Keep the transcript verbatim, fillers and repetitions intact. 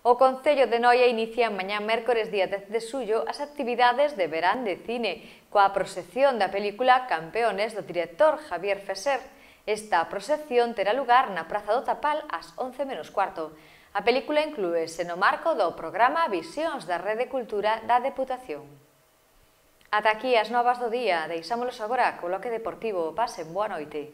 O Concello de Noia inicia mañá mércores día dez de xullo as actividades de verán de cine coa proxección da película Campeones do director Javier Fesser. Esta proxección terá lugar na Praza do Tapal ás once menos cuarto. A película inclúese no marco do programa Visións da Rede Cultura da Deputación. Ata aquí as novas do día, deixámolos agora co bloque deportivo. Pasen boa noite.